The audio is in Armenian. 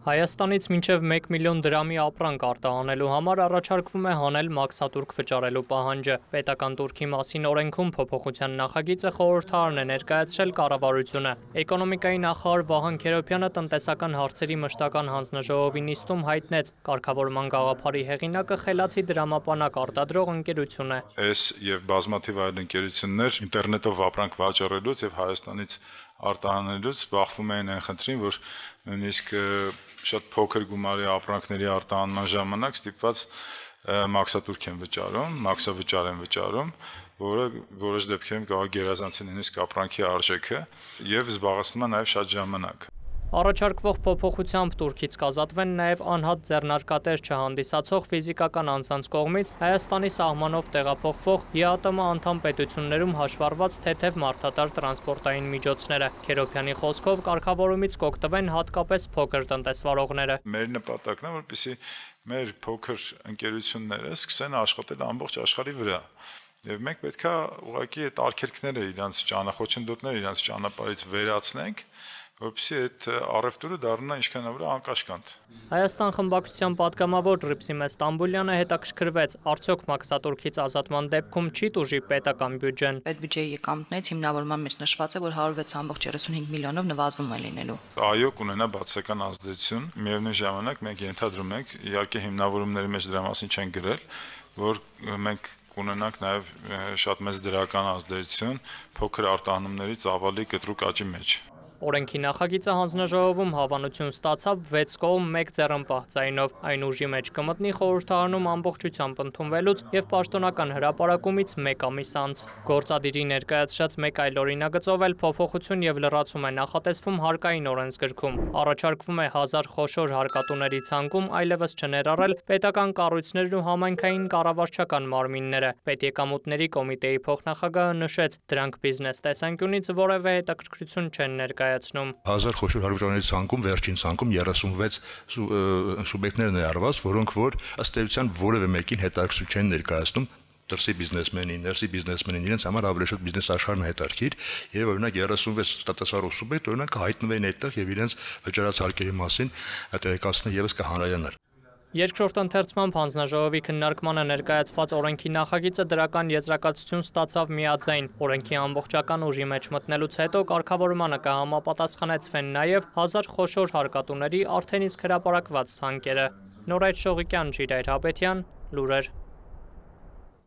Հայաստանից մինչև 1 միլիոն դրամի ապրանք արտահանելու համար առաջարկվում է հանել մաքսատուրք վճարելու պահանջը։ Պետական տուրքի մասին օրենքում փոփոխության նախագիծը խորհրդարան է ներկայացրել կառավարությունը։ Էկոնոմիկայի նախարար Վահան Քերոբյանը տնտեսական հարցերի մշտական հանձնաժողովի նիստում հայտնեց, կարգավորման գաղափարի հեղինակը խելացի դրամապանակ արտադրող ընկերություն է։ Այս եւ բազմաթիվ այլ ընկերություններ ինտերնետով ապրանք վաճառելուց եւ Հայաստանից արտահանելուց բախվում էին այն խնդրին, որ նույնիսկ շատ փոքր գումարի ապրանքների արտահանման ժամանակ ստիպված մաքսատուրք են վճարում, մաքսավճար են վճարում, որը որոշ դեպքերում կարող գերազանցի նույնիսկ ապրանքի արժեքը եւ զբաղեցնում է նաեւ շատ ժամանակ։ Առաջարկվող փոփոխությամբ Տուրքից կազատվեն նաև անհատ ձեռնարկատեր չհանդիսացող ֆիզիկական անձանց կողմից Հայաստանի սահմանով տեղափոխվող ԵԱՏՄ անդամ պետություններում հաշվառված թեթև մարդատար տրանսպորտային միջոցները։ Քերոբյանի խոսքով կարգավորումից կօգտվեն հատկապես փոքր տնտեսվարողները։ Մեր նպատակն է, որպեսզի մեր փոքր ընկերությունները սկսեն աշխատել ամբողջ աշխարհի վրա։ Եվ մենք պետք է ուղղակի այդ արգելքները իրանց խոչընդոտները իրանց ճանապարհից վերացնենք, որպեսզի այդ առևտուրը դառնա ինչքանավոր անկաշկանդ։ Հայաստան խմբակցության պատգամավոր Ռիփսիմե Ստամբուլյանը հետաքրքրվեց, արդյոք մաքսատուրքից ազատման դեպքում չի տուժի պետական բյուջեն։ Պետբյուջեի եկամուտներից հիմնավորման մեջ նշված է, որ 106.35 միլիոնով նվազում է լինելու։ Այո, կունենա բացասական ազդեցություն, միևնույն ժամանակ մենք ենթադրում ենք, իհարկե հիմնավորումների մեջ դրա մասին չեն գրել, որ մենք կունենանք նաև շատ մեծ դրական ազդեցություն փոքր արտահանումների ծավալի կտրուկ աճի մեջ։ Օրենքի նախագիծը հանձնաժողովում հավանություն ստացավ 6 կողմ 1 ձեռնպահ ձայնով։ Այն ուժի մեջ կմտնի խորհրդարանում ամբողջությամբ ընդունվելուց եւ պաշտոնական հրապարակումից 1 ամիս անց։ Գործադիրի ներկայացրած մեկ այլ օրինագծով էլ փոփոխություն եւ լրացում է նախատեսվում հարկային օրենսգրքում։ Առաջարկվում է 1000 խոշոր հարկատուների ցանկում այլևս չներառել պետական կառույցներն ու համայնքային կառավարչական մարմինները։ Պետեկամուտների կոմիտեի փոխնախագահը նշեց, դրանք բիզնես տեսանկյունից որևէ հետաքրքրություն չեն ներկայացնում։ 1000 խոշոր հարվածների ցանկում վերջին ցանկում 36 սուբյեկտներ ներառված, որոնք որ ըստ էության որևէ մեկին հետաքրքրություն չեն ներկայացնում դրսի բիզնեսմենին, ներսի բիզնեսմենին, իրենց համար ավելի շատ բիզնես աշխարհն հետաքրքիր եւ օրինակ 36 տնտեսվարող սուբյեկտ օրինակ հայտնվեն այդտեղ եւ իրենց վճարած հարկերի մասին տեղեկացնեն եւս կհանրայանար։ Երկրորդ ընթերցմամբ հանձնաժողովի քննարկմանը ներկայացված օրենքի նախագիծը դրական եզրակացություն ստացավ միաձայն։ Օրենքի ամբողջական ուժի մեջ մտնելուց հետո կարգավորմանը կհամապատասխանեցվեն նաև 1000 խոշոր հարկատուների արդեն իսկ հրապարակված ցանկերը։ Նորայր Շողիկյան, Ժիրայր Հաբետյան, լուրեր։